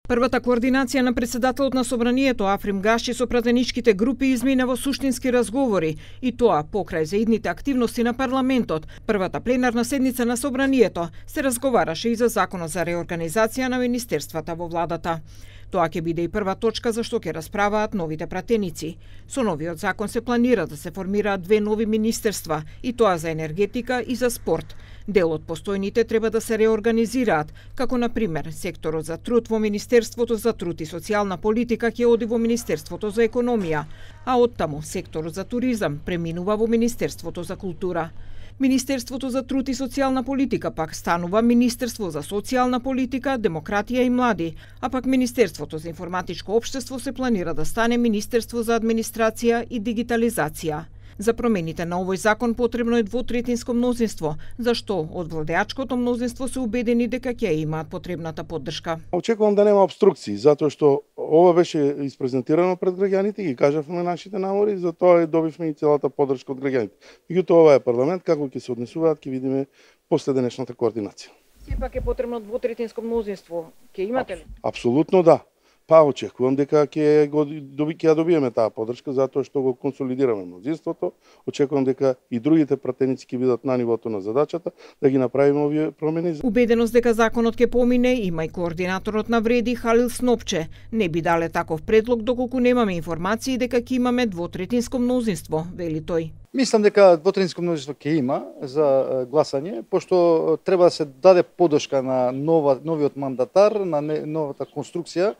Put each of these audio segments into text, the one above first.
Првата координација на председателот на Собранието Африм Гаши со пратеничките групи измина во суштински разговори, и тоа покрај заидните активности на парламентот. Првата пленарна седница на Собранието се разговараше и за законот за реорганизација на министерствата во владата. Тоа ќе биде и прва точка за што ќе расправаат новите пратеници. Со новиот закон се планира да се формираат 2 нови министерства, и тоа за енергетика и за спорт. Дел од постојните треба да се реорганизираат, како на пример секторот за труд во Министерството за труд и социјална политика ќе оди во Министерството за економија, а оттаму секторот за туризам преминува во Министерството за култура. Министерството за труд и социјална политика пак станува Министерство за социјална политика, демократија и млади, а пак Министерството за информатичко општество се планира да стане Министерство за администрација и дигитализација. За промените на овој закон потребно е двотретинско мнозинство, зашто од владеачкото мнозинство се убедени дека ќе имаат потребната поддршка. Очекувам да нема обструкции, затоа што ова беше испрезентирано пред граѓаните, ги кажавме нашите намори, затоа добивме и целата поддршка од граѓаните. Меѓутоа ова е парламент, како ќе се однесуваат, ќе видиме после денешната координација. Сепак е потребно двотретинско мнозинство. Ќе имате ли? Апсолутно да. Па очекувам дека ќе ја добиеме таа поддршка затоа што го консолидираме мнозинството. Очекувам дека и другите пратеници ќе бидат на нивото на задачата да ги направиме овие промени. Убеденост дека законот ќе помине има и координаторот на Вреди Халил Снопче. Не би дале таков предлог доколку немаме информации дека ќе имаме двотретинско мнозинство, вели тој. Мислам дека двотретинско мнозинство ќе има за гласање, пошто треба да се даде поддршка на новиот мандатар, на новата конструкција.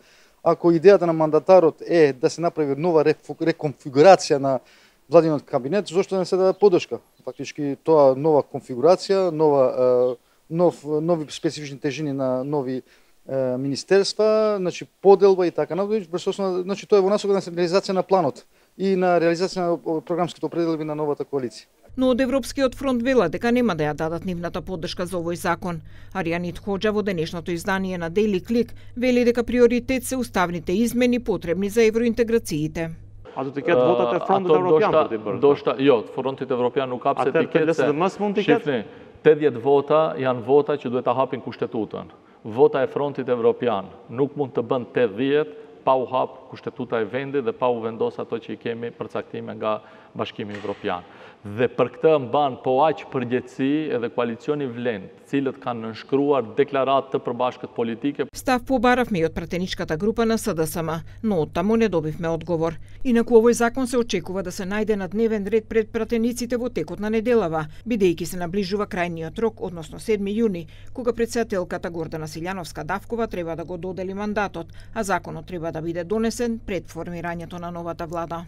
Ако идејата на мандатарот е да се направи нова реконфигурација на владиниот кабинет, зошто не се даде поддршка? Фактички тоа нова конфигурација, нови специфични тежини на нови министерства, значи поделба и така натаму, значи тоа е во насока на централизација на планот и на реализација на програмските определби на новата коалиција. Но од Европскиот фронт вела дека нема да ја дадат нивната поддршка за овој закон. Аријанит Хоџа во денешното издание на Daily Click вели дека приоритет се уставните измени потребни за евроинтеграциите. A do të ketë votat e frontit evropian për të bërë? Ndoshta, jo, frontit evropian nuk hap se të ketë. Atëherë LSDM mund të ketë? Shifni, 80 vota janë vota që duhet ta hapin kushtetutën. Vota e frontit evropian nuk mund të bën 80 pa u hap kushtetuta e vendit dhe pa u vendos ato që i kemi përcaktime nga Bashkimi Evropian. Dhe për këtë mban po aq përgjegjësi edhe koalicioni Vlend, cilët kanë nënshkruar deklaratë të përbashkët politike. Став побаравме и од пратеничката група на СДСМ, но оттаму не добивме одговор. Инаку овој закон се очекува да се најде на дневен ред пред пратениците во текот на неделава, бидејќи се наближува крајниот рок, односно 7 јуни, кога претседателката Гордана Силјановска-Давкова треба да го додели мандатот, а законот треба да биде донесен пред формирањето на новата влада.